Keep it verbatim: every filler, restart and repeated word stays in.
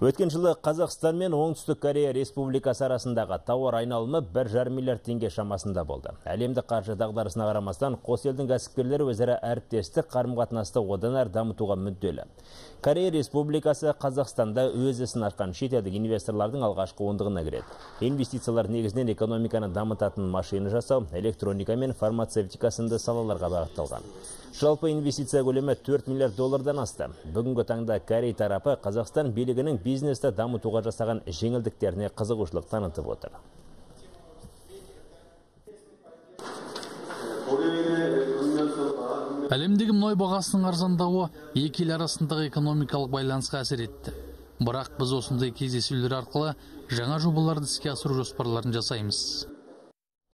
Өткен жылы Қазақстан мен Оңтүстік Корея Республикасы арасындағы тауар айналымы бір жарым миллиард теңге шамасында болды. Әлемдік қаржы дағдарысына қарамастан қос елдің кәсіпкерлері өзара әріптестік қарым-қатынасты одан әрі дамытуға мүдделі. Корея Республикасы Қазақстанда өз ісін ашқан шетелдік инвесторлардың алғашқы ондығына кіреді. Инвестициялар негізінен экономиканы дамытатын машина жасау, электроника мен фармацевтика сынды салаларға бағытталған. Жалпы инвестиция көлемі төрт миллиард доллардан асты. Бүгінгі таңда Корей тарапы Қазақстан билігінің бизнесті дамытуға жасаған жеңілдіктеріне қызығушылық танытып отыр. Әлемдегі мұнай бағасының арзандауы екі ел арасындағы экономикалық байланысқа әсер етті. Бірақ біз осындай кездесулер арқылы жаңа жобаларды іске асыру жоспарларын жасаймыз.